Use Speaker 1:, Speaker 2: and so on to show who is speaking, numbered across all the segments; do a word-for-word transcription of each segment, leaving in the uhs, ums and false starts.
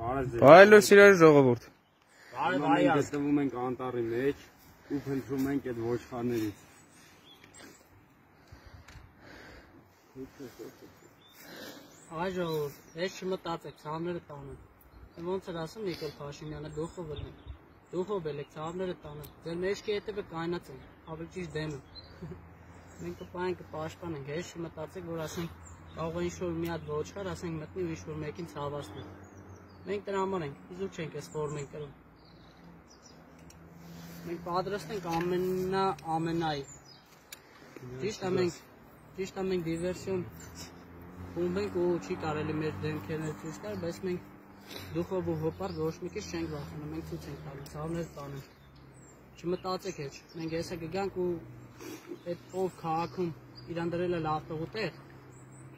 Speaker 1: Բարելո սիրելի ժողովուրդ։
Speaker 2: Մենք գտնվում ենք անտառի մեջ ու փնտրում ենք այդ ոչխարներից։
Speaker 3: Այ ժողովուրդ, ես չմտածեք, ցավները տանը։ Ոնց էր ասում Նիկոլ Փաշինյանը, դուխով էլ են։ Դուխով էլ եք, ցավները տանը։ Ձեր մեջքի հետևը կայնած են, ավելի ճիշտ դեմը։ Մենք կպայենք կպաշտպանենք, ես չմտածեք, որ ասենք կարող է ինչ-որ մի հատ ոչխար, ասենք մտնի ու ինչ-որ մեկին ցավացնի։ Մենք դրա համար ենք, իզուր չենք այս ֆորմ ենք կրում։ Մենք պատրաստ ենք ամենա ամենայի։ Ճիշտ է մենք, ճիշտ է մենք դիվերսիոն խումբ ենք ու չի կարելի մեր դեմքերն ցույց տալ, բայց մենք դուխով ու հոպար ոչ մի քիչ չենք վախենում, մենք ցույց ենք տալու, ցավներ տանենք։ Չմտածեք հեչ, մենք հեսա կգանք ու այդ ով քաղաքում իրան դրել է լավ տղու տեղ,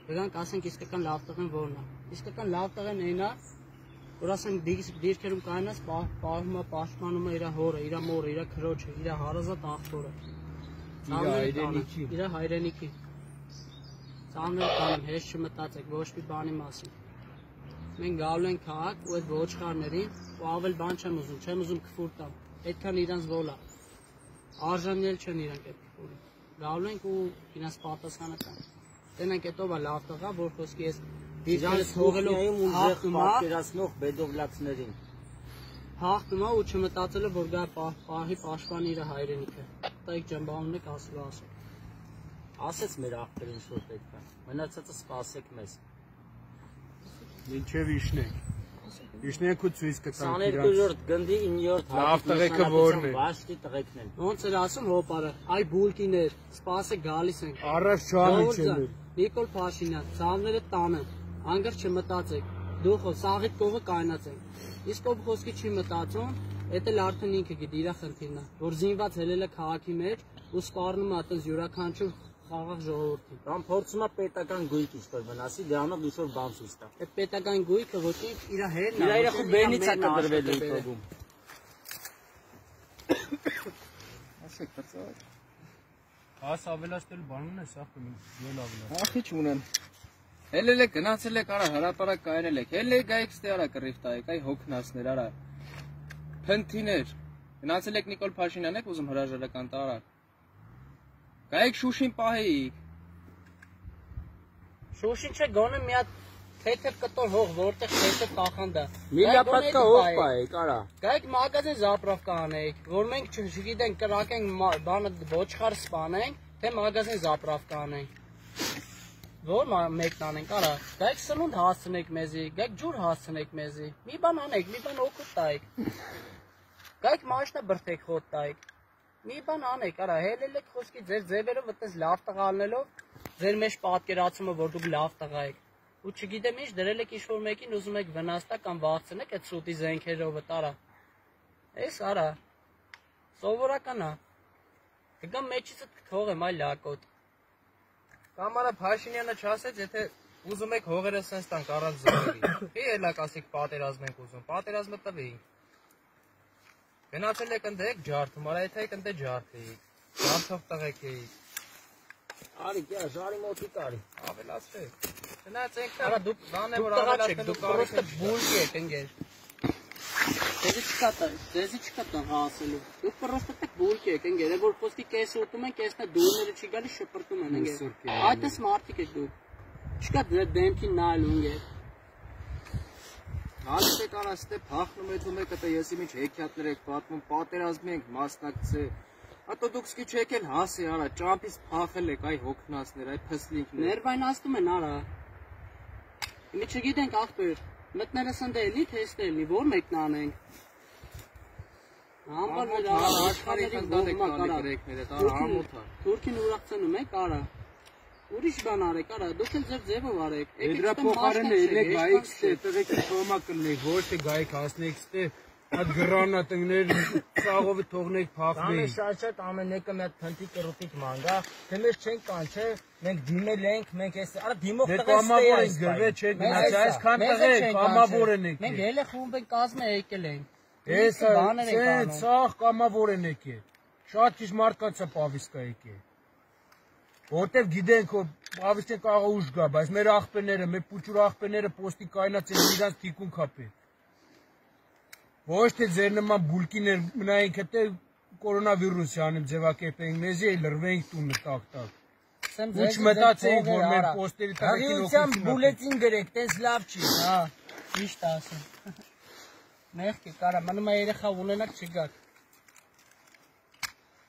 Speaker 3: կգանք ասենք իսկական լավ տղեն որն է։ Իսկական լավ տղեն այն է, որ ասենք դիրքերում կայնած պահում է, պաշտպանում է իր հորը, իր մորը, իր քրոջը, իր հարազատ աղբորը։ Իր հայրենիքի, իր հայրենիքի։ Ցավներ տանեմ, հեչ չմտածեք, ոչ մի բանի մասին։ Մենք գալու ենք քաղաք ու այդ ոչխարներին ու ավել բան չեմ ուզում, չեմ ուզում քֆուր տամ։ Այդքան իրանց ոլ է։ Արժանիել չեն իրանք այդ քֆուրը։ Գալու ենք ու իրանց պատասխանը տան։ Տենենք այդ ով է լավ տղա, որ խոսքի ես դիրքերը թողելով հաղթում է,
Speaker 2: պատկերացնող բեդովլակցներին։
Speaker 3: Հաղթում է ու չմտածել է, որ գա պահի պաշտպանի իր հայրենիքը։ Տայք ջամբանում եք ասելու ասեք։
Speaker 2: Ասեց մեր աղբերին ինչ-որ պետք է։ Մնացածը սպասեք մեզ։
Speaker 1: Մինչև իշնենք։ Իշնենք ու ցույց կտանք
Speaker 2: քսաներկու գնդի իններորդ
Speaker 1: լավ տղեկը որն է։
Speaker 2: Բաշտի տղեկն են։
Speaker 3: Ոնց էր ասում հոպարը, այ բուլկիներ, սպասեք գալիս ենք։
Speaker 1: Առաջ չանիչել։
Speaker 3: Նիկոլ Փաշինյան, ցավները տանը, անգր չմտածեք։ Դուխո սաղիտ կողը կայնած ենք։ Իսկ ով խոսքի չի մտածում, դա էլ արդեն ինքը գիտի իր խնդիրն է, որ զինված հելել է քաղաքի մեջ ու սպառնում է այդպես յուրաքանչյուր խաղաղ ժողովրդին։
Speaker 2: Կամ փորձում է պետական գույք ինչ-որ վնասի, դրանով ինչ-որ բան ցույց տա։
Speaker 3: Այդ պետական գույքը ոչինչ իր հերն է։
Speaker 2: Իր երախու բերնից է կդրվել է փողում։
Speaker 1: Ասեք բացա։ Աս ավելացնել բանուն է սա ել ավելացնել։
Speaker 4: Ախի չունեմ։ Հելել եք գնացել եք արա հրապարակ կայրել եք։ Հելել եք գայք ստե արա կռիվ տայեք, այ հոգնածներ արա։ Փնթիներ։ Գնացել եք Նիկոլ Փաշինյան եք ուզում հրաժարական տարա։ Գայք Շուշին պահեիք։
Speaker 3: Շուշին չէ գոնե մի հատ թեթև կտոր հող, որտեղ թեթև կախանդա։
Speaker 2: Միլիապատկա հող պահեիք, արա։
Speaker 3: Գայք մագազին զապրովկա անեիք, որ մենք չգիտենք կրակենք բանը ոչխար սպանենք, թե մագազին զապրովկա անենք։ Որ մեկն անենք, արա։ Գայք սնունդ հասցնեք մեզի, գայք ջուր հասցնեք մեզի։ Մի բան անեք, մի բան օգուտ տայեք։ Գայք մաշնա բրթեք խոտ տայեք։ Մի բան անեք, արա, հելել եք խոսքի ձեր ձևերով այդպես լավ տղա ալնելով, ձեր մեջ պատկերացումը, որ դուք լավ տղա եք։ Ու չգիտեմ ինչ, դրել եք ինչ-որ մեկին ուզում եք վնասતા կամ վախցնեք այդ սուտի զենքերով տարա։ Էս արա։ Սովորական է։ Կգամ մեջիցդ կթողեմ այ լակոտ։
Speaker 4: Կամ արա Փաշինյանը չասեց, եթե ուզում եք հողերը սենց տանք առանց զորերի։ Ի էլա կասեք պատերազմ ենք ուզում, պատերազմը տվեինք։ Գնացել եք ընդ ջարդում, արա եթե եք ընդ ջարդեիք, ջարդով տղեկ էիք։
Speaker 2: Արի, կյա, ժարի մոտի կարի։
Speaker 4: Ավելացրեք։ Գնաց եք արա դուք բան է որ ավելացնելու
Speaker 3: պրոստը բուլկի եք ընկեր։ Դեզի չկա տա, դեզի չկա տղա ասելու։ Դուք պրոստը բուլկի եք ընկեր, որ խոսքի կես ուտում են, կեսնա դուրները չի գալի շպրտում են ընկեր։ Այդպես մարդիկ եք դուք։ Չկա դեմքին նայելու ընկեր։
Speaker 4: Հալիս եք արա ստե փախնում եք եք դա եսի միջ հեքիաթներ եք պատմում, պատերազմի ենք մասնակցել։ Ատո դուք սկի չեք էլ հասի արա, ճամփից փախել եք այ հոգնածներ, այ փսլինքներ։
Speaker 3: Ներվայնացնում են արա։ Իմի չգիտենք ախպեր, մտներս ընդ էլի, թե էստե էլի, որ մեկն անենք։ Համբար մեր
Speaker 4: աշխարհի խնդանեք կարեկները, դա համոթ է։
Speaker 3: Թուրքին ուրախցնում եք արա։ Ուրիշ բան արեք, արա, դուք էլ ձեր ձևով արեք։
Speaker 1: Դրա փոխարենը ելեք գայիք ստե, տղեկի թոմա կլնեք, ոչ թե գայիք հասնեք ստե, այդ գրանատներ ծաղովը թողնեք փախնեին։
Speaker 2: Ամեն շատ-շատ ամեն մեկը մի հատ փնտի կռուտիկ մանգա, թե մեր չենք կանչե, մենք դիմել ենք, մենք էս, արա դիմող տղեստե
Speaker 1: ենք գրվել չեք գնաց, այսքան տղեկ կամավոր են եկել։
Speaker 3: Մենք հելը խումբ ենք կազմը եկել ենք։
Speaker 1: Էս է, ցախ կամավոր են եկել։ Շատ քիչ մարդկանց է պավիսկա եկել։ Որտեվ գիտենք որ պավիստը կարող ուժ գա, բայց մեր աղբերները, մեր փուչուր աղբերները պոստի կայնած են իրանց թիկուն կապել։ Ոչ թե ձեր նման բուլկիներ մնայինք հետե կորոնավիրուսի անիմ ձևակերպենք, մեզի էլ լրվենք տունը տակ-տակ։ Ոչ մտածեինք, որ մեր պոստերի տակին
Speaker 2: օգնություն բուլետին գրեք, տես լավ չի, հա,
Speaker 3: Ճիշտ ասում։ Մեղքի կարա, մնում է երեխա ունենակ չգաք։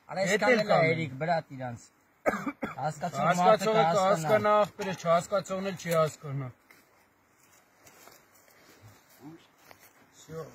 Speaker 2: Արա այսքան էլ է Էրիկ, բրատ իրանց։ Հասկացող մարդը
Speaker 1: հասկացողը կհասկանա, աղբերը չհասկացողն էլ չի հասկանա։ Всё